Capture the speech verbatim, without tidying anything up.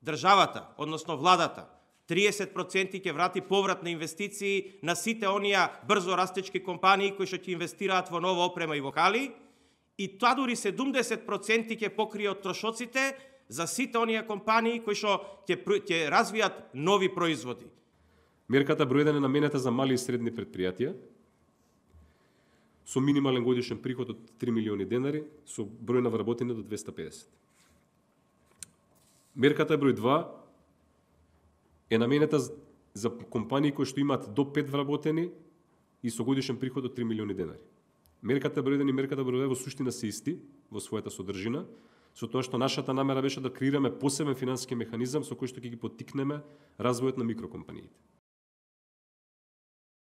државата, односно владата, триесет проценти ќе врати поврат на инвестиции на сите оние брзо растечки компании кои што ќе инвестираат во нова опрема и во хали, и тоа дури седумдесет проценти ќе покрие од трошоците за сите оние компании кои што ќе ќе развијат нови производи. Мерката број еден е наменета за мали и средни предпријатија со минимален годишен приход од три милиони денари, со број на вработени до двесте и педесет. Мерката број два е наменета за компании кои што имаат до пет вработени и со годишен приход од три милиони денари. Мерката број еден и мерката број два во суштина се исти во својата содржина, со тоа што нашата намера беше да креираме посебен финансиски механизам со кој што ќе ги поттикнеме развојот на микрокомпаниите.